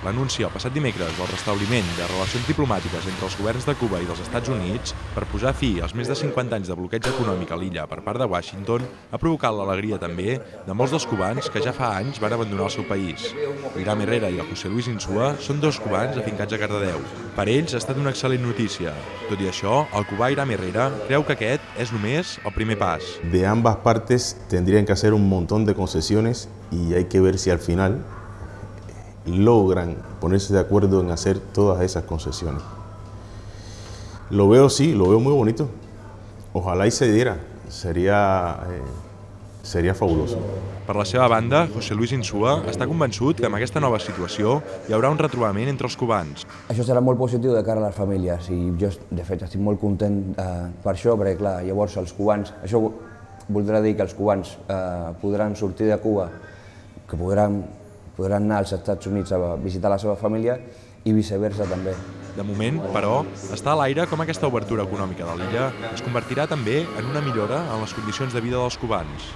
l'anunci el passat dimecres del restabliment de relacions diplomàtiques entre els governs de Cuba i dels Estats Units per posar fi als més de 50 anys de bloqueig econòmic a l'illa per part de Washington ha provocat l'alegria també de molts dels cubans que ja fa anys van abandonar el seu país. Iram Herrera i el José Luis Insúa són dos cubans afincats a Cardedeu. Per ells ha estat una excel·lent notícia. Tot i això, el cubà Iram Herrera creu que aquest és només el primer pas. De ambas partes tendrían que hacer un montón de concesiones y hay que ver si al final logran ponerse de acuerdo en hacer todas esas concesiones. Lo veo, sí, lo veo muy bonito. Ojalá y se diera, sería fabuloso. Per la seva banda, José Luis Insúa està convençut que amb aquesta nova situació hi haurà un retrobament entre els cubans. Això serà molt positiu de cara a les famílies i jo, de fet, estic molt content per això, perquè, clar, llavors els cubans, això voldrà dir que els cubans podran sortir de Cuba, que podran anar als Estats Units a visitar la seva família i viceversa també. De moment, però, està a l'aire com aquesta obertura econòmica de l'illa es convertirà també en una millora en les condicions de vida dels cubans.